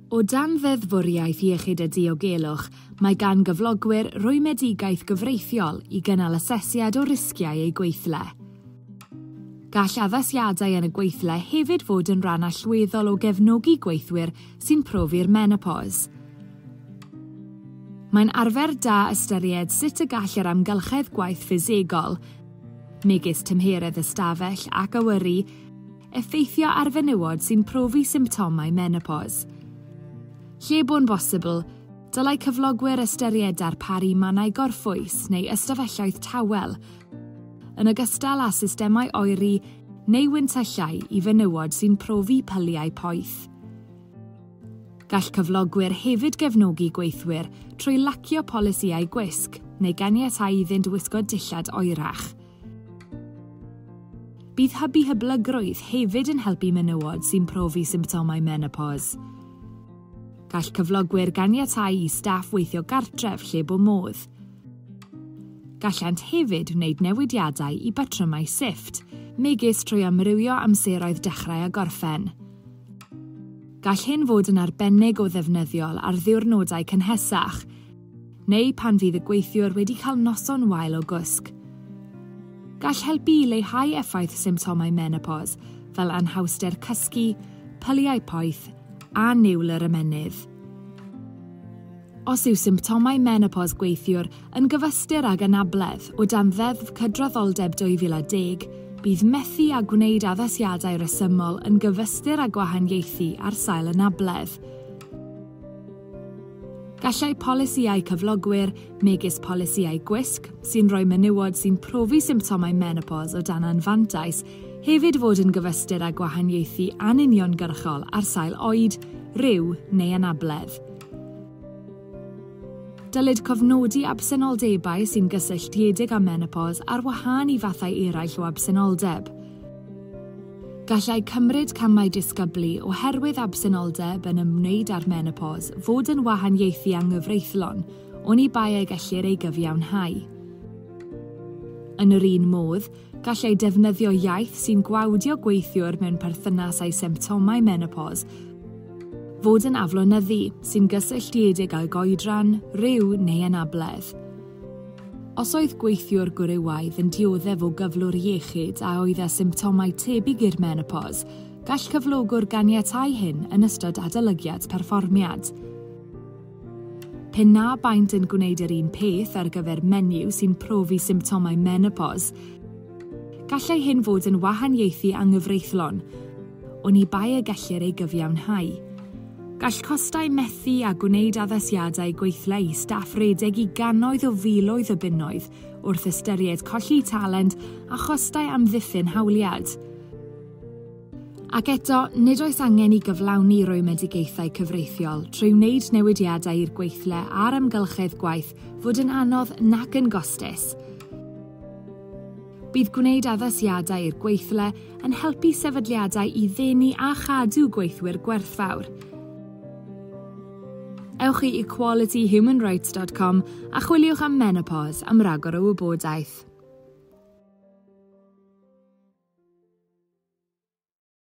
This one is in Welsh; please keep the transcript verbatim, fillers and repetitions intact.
O dan ddeddfwriaeth iechyd a diogelwch, mae gan gyflogwyr rwymedigaeth gyfreithiol i gynnal asesiad o risgiau eu gweithle. Gall addasiadau yn y gweithle hefyd fod yn rhan allweddol o gefnogi gweithwyr sy'n profi'r menopos. Mae'n arfer da ystyried sut y gall yr amgylchedd gwaith ffisegol, megis tymheredd ystafell ac awyru, effeithio ar fenywod sy'n profi symptomau menopos. Lle bo'n bosibl, dylai cyflogwyr ystyried darparu mannau gorffwys neu ystafelloedd tawel, yn ogystal â systemau oeri neu wyntyllau i fenywod sy'n profi pyliau poeth. Gall cyflogwyr hefyd gefnogi gweithwyr trwy lacio polisïau gwisg neu ganiatáu iddynt wisgo dillad oerach. Bydd hybu hyblygrwydd hefyd yn helpu menywod sy'n profi symptomau menopos. Gall cyflogwyr ganiatáu i staff weithio gartref lle bo modd. Gallant hefyd wneud newidiadau i batrymau sifft, megis trwy amrywio amseroedd dechrau a gorffen. Gall hyn fod yn arbennig o ddefnyddiol ar ddiwrnodau cynhesach, neu pan fydd y gweithiwr wedi cael noson wael o gwsg. Gall helpu i leihau effaith symptomau menopos, fel anhawster cysgu, pyliau poeth a niwl yr ymennydd. Os yw symptomau menopos gweithiwr yn gyfystyr ag anabledd o dan Ddeddf Cydraddoldeb dwy fil a deg, bydd methu a gwneud addasiadau rhesymol yn gyfystyr â gwahaniaethu ar sail anabledd. Gallai polisïau cyflogwyr, megis polisïau gwisg, sy'n rhoi menywod sy'n profi symptomau menopos o dan anfantais, hefyd fod yn gyfystyr â gwahaniaethu anuniongyrchol ar sail oed, rhyw neu anabledd. Dylid cofnodi absenoldebau sy'n gysylltiedig â menopos ar wahân i fathau eraill o absenoldeb. Gallai cymryd camau disgyblu oherwydd absenoldeb yn ymwneud â'r menopos fod yn wahaniaethu anghyfreithlon, oni bai y gellir ei gyfiawnhau. Yn yr un modd, gallai defnyddio iaith sy'n gwawdio gweithiwr mewn perthynas â'i symptomau menopos fod yn aflonyddu sy'n gysylltiedig â goedran, rhyw neu anabledd. Os oedd gweithiwr gwrywaidd yn dioddef o gyflwr iechyd a oedd â symptomau tebyg i'r menopos, gall cyflogwr ganiatáu hyn yn ystod adolygiad perfformiad. Pe na baent yn gwneud yr un peth ar gyfer menyw sy'n profi symptomau menopos, gallai hyn fod yn wahaniaethu anghyfreithlon, oni bai y gellir ei gyfiawnhau. Gall costau methu a gwneud addasiadau gweithle i staff redeg i gannoedd o filoedd o bunnoedd wrth ystyried colli talent a chostau amddiffyn hawliad. Ac eto, nid oes angen i gyflawni rwymedigaethau cyfreithiol trwy wneud newidiadau i'r gweithle a'r amgylchedd gwaith fod yn anodd nac yn gostus. Bydd gwneud addasiadau i'r gweithle yn helpu sefydliadau i ddenu a chadw gweithwyr gwerthfawr. Ewch i equality human rights dot com a chwiliwch am menopos am ragor o wybodaeth.